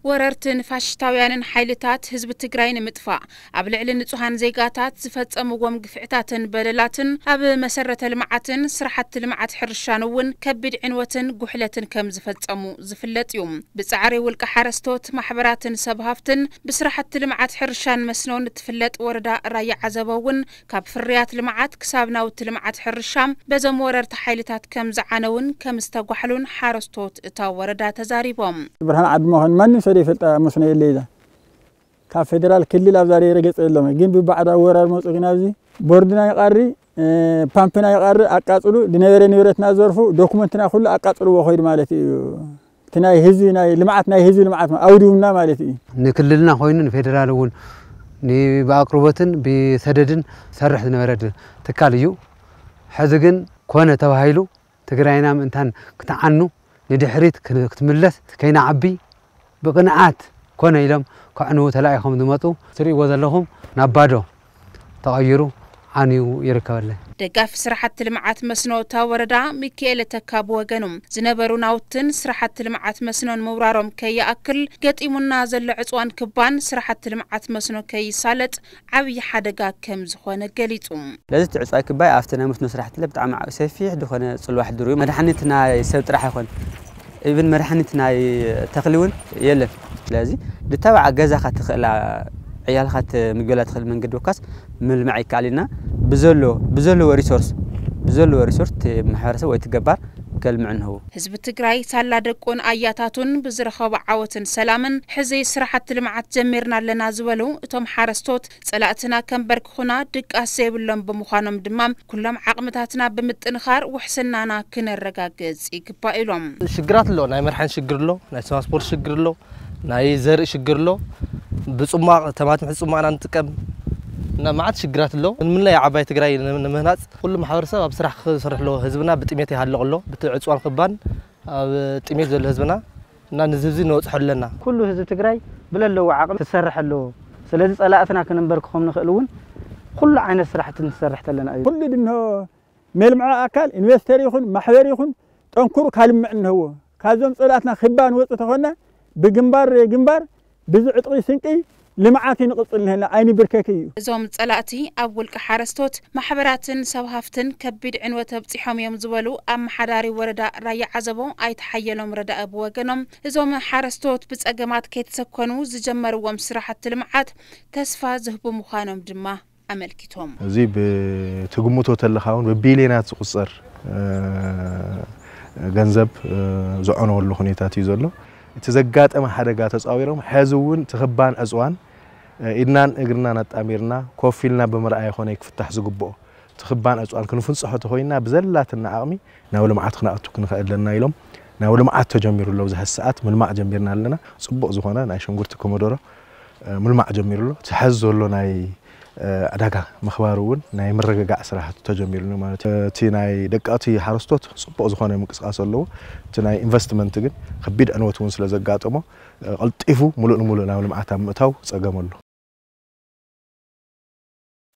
ወረርትን ፋሽስታውያንን ሓይልታት ህዝቢ ትግራይ ንምጥፋእ ኣብ ልዕሊ ንጹሃን ዜጋታት ዝፈጸምዎም ግፍዕታትን በደላትን ኣብ መሰረተ ልምዓትን ስራሕቲ ልምዓት ሕርሻን እውን ከቢድ ዕንወትን ጉሕለትን ከም ዝፈጸሙ ዝፍለጥ እዩ። ብጻዕሪ ውልቀ ሓረስቶት፣ ማሕበራትን ሰብ ሃፍትን ብስራሕቲ ልምዓት ሕርሻን መስኖን እትፍለጥ ወረዳ ራያ ዓዘቦ እውን ካብ ፍርያት ልምዓት ክሳብ ናውቲ ልምዓት ሕርሻ በዞም ወረርቲ ሓይልታት ከም ዝዓነውን ከም ዝተጓሕሉን ሓረስቶት እታ ወረዳ ተዛሪቦም። ብርሃን ዓዲ መኾን ማንም ሰብ ይፈልጣ መስኖ የለ ኢላ። ካብ ፌደራል ክልል ኣብዛ ሬረ ገጸ የሎም። ግን ብባዕዳ ወራር መጹ ግን ኣብዚ ቦርድና ይቐሪ፣ እ፣ ፓምፕና ይቐሪ፣ ኣቃጽሉ፣ ዝነበረ ንብረትና ዘርፉ፣ ዶኩመንትና ኩሉ ኣቃጽልዎ ኸይዱ ማለት እዩ። እቲ ናይ ህዝቢ፣ ናይ ልምዓት፣ ናይ ህዝቢ ልምዓት ኣውዲምና ማለት እዩ። ንክልልና ኮይኑ ንፌደራል እውን ን-፣ ብኣቅርቦትን ብሰደድን ሰርሕ ዝነበረ ድ-፣ ትካል እዩ። ሕዚ ግን ኮነ ተባሂሉ ትግራይና ምእንታን ክትዓኑ ንድሕሪት ክን-፣ ክትምለስ ከይንዓቢ ብቅንዓት ኮነ ኢሎም ከዕንዉ ተላኢኾም ዝመፁ ትርእይዎ ዘለኹም ናብ ባዶ ተቐይሩ ዓንዩ ይርከበለ። ደጋፊ ስራሕቲ ልምዓት መስኖ እታ ወረዳ ሚካኤል ተካ ብወገኑ፣ ዝነበሩ ናውትን ስራሕቲ ልምዓት መስኖን ምውራሮም ከይኣክል፣ ገጢሙና ዘሎ ዕፅዋን ክባን ስራሕቲ ልምዓት መስኖ ከይሳለጥ ዓብዪ ሓደጋ ከም ዝኾነ ገሊጹ። ስለዚ እቲ ዕፅዋይ ክባይ ኣብቲ ናይ መስኖ ስራሕቲ ብጣዕሚ ዓብ-፣ ሰፊሕ ዝኾነ ፅልዋ ሕድሩ እዩ። መድሓኒት ናይ ሰብ ጥራሕ ኣይኮን፣ ኢቭን መድሓኒት ናይ ተኽሊ እውን የለን። ስለዚ ድተባዓ ገዛኻ ትኽእላ፣ ዕያልካ ትምገላ ትኽእል መንገዲ ወካስ ምልማዕ ይከኣል ኢልና ብዘሎ፣ ብዘለዎ ሪሶርስ፣ ብዘለዎ ሪሶርስ እቲ ማሕበረሰብ ወይ እቲ ገባር ከልምዕ እንህቡ። ህዝቢ ትግራይ ሳላ ደቁን ኣያታቱን ብዝረኸቦ ዓወትን ሰላምን ሕዚ ስራሕቲ ልምዓት ጀሚርና ኣለና ዝበሉ እቶም ሓረስቶት፣ ጸላእትና ከንበርክኹና ድቃስ ዘይብሎም ብምዃኖም ድማ፣ ኩሎም ዓቕምታትና ብምጥንኻር ውሕስናና ክነረጋግጽ ይግባእ ኢሎም። ሽግራት ኣሎ። ናይ መድሓኒት ሽግር ኣሎ፣ ናይ ትራንስፖርት ሽግር ኣሎ፣ ናይ ዘርኢ ሽግር ኣሎ። ብጽሟቕ፣ ተማትም ሕዚ ጽሟቕና ንጥቀም እና መዓት ሽግራት ኣሎ። ንምንላይ ዓባይ ትግራይ ን-፣ ንምህናጽ ኩሉ ማሕበረሰብ ኣብ ስራሕ ክሰርሕ ኣለዎ። ህዝብና ብጥሜት ይሃልቕ ኣሎ። ብቲ ዕፅዋን ክባን ኣብ ጥሜት ዘሎ ህዝብና እና ንዚ ህዝቢ ነብፅሖ ኣለና። ኩሉ ህዝቢ ትግራይ ብለለዎ ዓቕሚ ክሰርሕ ኣለዎ። ስለዚ ጸላእትና ክንንበርክኾም ንኽእል እውን ኩሉ ዓይነት ስራሕቲ ንሰርሕ ተለና እዩ። ኩሉ ድንሆ መልምዖ ኣካል ኢንቨስተር ይኹን ማሕበር ይኹን ጠንክሩ ካልምዕ እንህዎ። ካብዞም ጸላእትና ክባ ንወፁ ተኾና ብግንባር ግንባር ብዚ ዕጥቂ ስንቂ ልምዓት ይንቕጽል ንህና ኣይንብርከክ እዩ። እዞም ጸላእቲ ኣብ ውልቂ ሓረስቶት፣ ማሕበራትን ሰብ ሃፍትን ከቢድ ዕንወት ኣብጺሖም እዮም ዝበሉ ኣመሓዳሪ ወረዳ ራያ ዓዘቦ ኣይተ ሓየሎም ረዳኢ ብወገኖም፣ እዞም ሓረስቶት ብጸገማት ከይተሰኮኑ ዝጀመርዎም ስራሕቲ ልምዓት ተስፋ ዝህቡ ምዃኖም ድማ ኣመልኪቶም። እዚ ብትግምቶ ተለኻ እውን ብቢልዮናት ዝቑጸር፣ እ፣ ገንዘብ፣ እ፣ ዝዐነወሉ ሁኔታት እዩ ዘሎ። እቲ ዘጋጠመ ሓደጋ ተጻዊሮም፣ ሕዚ እውን እቲ ክባን ዕጽዋን፣ እ፣ ኢድናን እግርናን ኣጣሚርና ኮፍ ኢልና ብምርኣይ ኣይኮነ ክፍታሕ ዝግብኦ። እቲ ክባን ዕጽዋን ክንፍንጽሖ ተኾይንና ብዘላትና ዓቕሚ ናብ ልምዓት ክነኣቱ ክንኽእል ኣለና ኢሎም፣ ናብ ልምዓት ተጀሚሩ ኣሎ። ኣብዚ ሕዚ ሰዓት ምልማዕ ጀሚርና ኣለና። ጽቡቕ ዝኾነ ናይ ሽንጉርቲ ኮመዶሮ፣ እ፣ ምልማዕ ጀሚሩ ኣሎ። እቲ ሕዚ ዘሎ ናይ፣ እ፣ ዕዳጋ ምኽባር እውን ናይ ምርግጋዕ ስራሕቲ ተጀሚሩ ኣሎ ማለት እዩ። እቲ ናይ ደቀቕቲ ሓረስቶት ጽቡቕ ዝኾነ ምንቅስቃስ ኣለዎ። እቲ ናይ ኢንቨስትመንት ግን ከቢድ ዕንወት እውን ስለ ዘጋጠሞ፣ እ፣ ቀልጢፉ ምሉእ ንምሉእ ናብ ልምዓት ኣብ ምእታው ጸገም ኣሎ።